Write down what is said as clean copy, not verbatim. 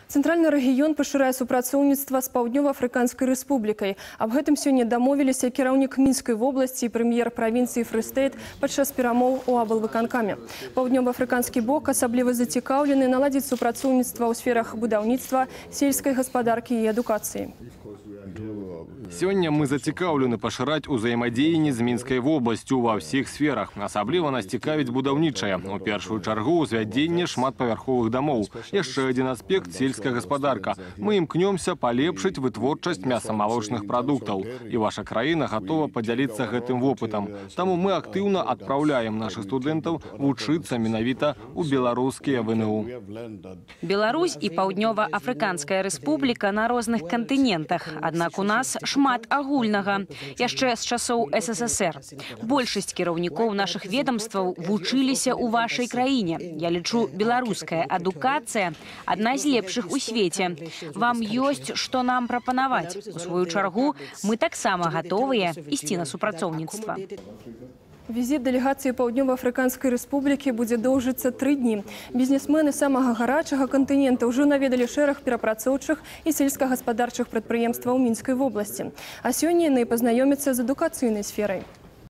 Центральны рэгіён пашырае супрацоўніцтва з Паўднёва-Афрыканскай рэспублікай. Аб гэтым сёння дамовіліся кіраўнік Мінскай вобласці і прэм'ер правінцыі Фрыстэйт падчас перамоў у аблвыканкаме. Паўднёва-афрыканскі бок асабліва зацікаўлены наладзіць супрацоўніцтва ў сферах будаўніцтва, сельскай гаспадаркі і адукацыі. Сёння мы зацікаўлены пашыраць узаемадзеянне з Мінскай вобласцю ва ўсіх сферах. Асабліва нас цікавіць будаўнічае. У першую чаргу ўзвядзенне шматпавярховых дамоў. Яшчэ адзін аспект – сельская гаспадарка. Мы імкнёмся палепшыць вытворчасць мяса-малочных прадуктаў. І ваша краіна гатова падзяліцца гэтым вопытам. Таму мы актыўна адпраўляем нашых студэнтаў вучыцца менавіта ў беларускія ВНУ. Беларусь і Паўднёва-Афрыканская рэспубліка на розных кантынентах. Аднак у нас шмат агульнага. Яшчэ з часоў СССР. Большасць кіраўнікоў нашых ведомстваў вучыліся ў вашай краіне. Я лічу, беларуская адукацыя адна з лепшых у свеце. Вам ёсць, што нам прапанаваць. У сваю чаргу, мы таксама гатовыя ісці на супрацоўніцтва. Візіт дэлегацыі Паўднёва-Афрыканскай рэспублікі будзе доўжыцца 3 дні. Бізнесмены самага гарачага кантынента ўжо наведалі шэраг перапрацоўчых і сельскагаспадарчых прадпрыемстваў Мінскай вобласці. А сёння яны пазнаёмяцца з адукацыйнай сферай.